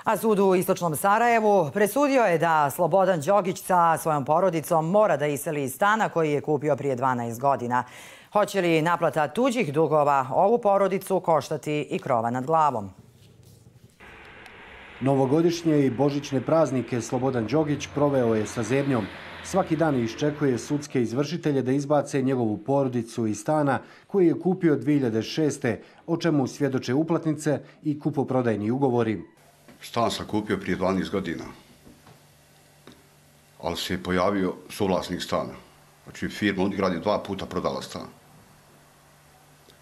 A sud u istočnom Sarajevu presudio je da Slobodan Đogić sa svojom porodicom mora da iseli iz stana koji je kupio prije 12 godina. Hoće li naplata tuđih dugova ovu porodicu koštati i krova nad glavom? Novogodišnje i božićne praznike Slobodan Đogić proveo je sa zebnjom. Svaki dan iščekuje sudske izvršitelje da izbace njegovu porodicu iz stana koji je kupio 2006. o čemu svjedoče uplatnice i kupoprodajni ugovori. Stan sam kupio prije 12 godina, ali se je pojavio suvlasnik stana. Znači firma Unigrad je 2 puta prodala stan.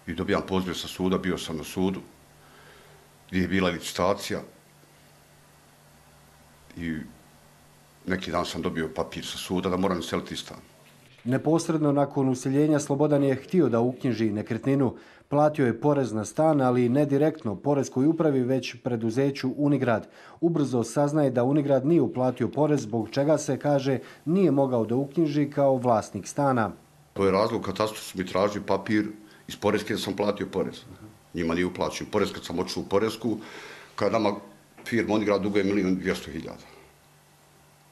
I dobijam poziv sa suda, bio sam na sudu, gdje je bila licitacija. I neki dan sam dobio papir sa suda da moram iseliti stan. Neposredno nakon useljenja Slobodan je htio da uknjiži nekretninu. Platio je porez na stan, ali ne direktno poreskoj upravi, već preduzeću Unigrad. Ubrzo saznaje da Unigrad nije uplatio porez, zbog čega se, kaže, nije mogao da uknjiži kao vlasnik stana. To je razlog, katastru su mi tražili papir iz poreske da sam platio porez. Njima nije uplaćen porez kad sam otišao u poresku, kada nama firma Unigrad duguje 1.200.000.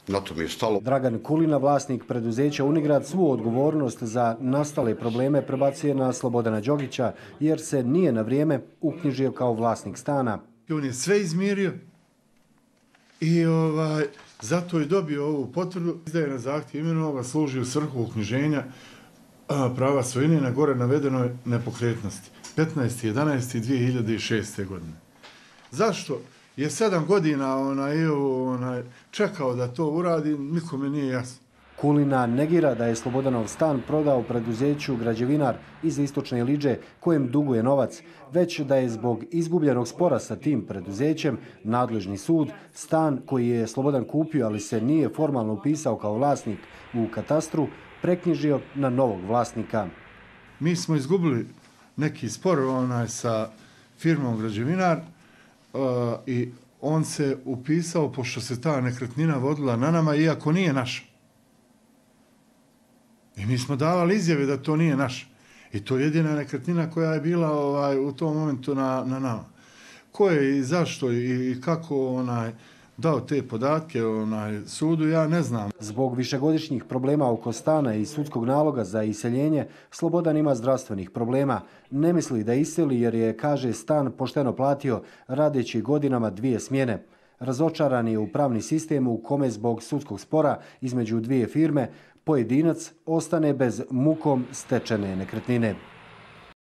Na to mi je stalo. Dragan Kulina, vlasnik preduzeća Unigrad, svu odgovornost za nastale probleme prebacuje na Slobodana Đogića, jer se nije na vrijeme uknjižio kao vlasnik stana. On je sve izmirio i zato je dobio ovu potvrdu. Izdaje na zahtjev imenovanoga, služi u svrhu uknjiženja prava svojine na gore navedenoj nepokretnosti. 15.11.2006. godine. Zašto je 7 godina čekao da to uradi, nikome nije jasno. Kulina negira da je Slobodanov stan prodao preduzeću Građevinar iz Istočne Iliđe kojem duguje novac, već da je zbog izgubljenog spora sa tim preduzećem nadležni sud stan koji je Slobodan kupio, ali se nije formalno upisao kao vlasnik u katastru, preknjižio na novog vlasnika. Mi smo izgubili neki spor sa firmom Građevinar, i on se upisao pošto se ta nekretnina vodila na nama, iako nije naša. I mi smo davali izjave da to nije naša. I to je jedina nekretnina koja je bila u tom momentu na nama. Ko je i zašto i kako dao te podatke sudu, ja ne znam. Zbog višegodišnjih problema oko stana i sudskog naloga za iseljenje, Slobodan ima zdravstvenih problema. Ne misli da iseli jer je, kaže, stan pošteno platio, radeći godinama 2 smjene. Razočaran je u pravni sistem u kome zbog sudskog spora između 2 firme pojedinac ostane bez mukom stečene nekretnine.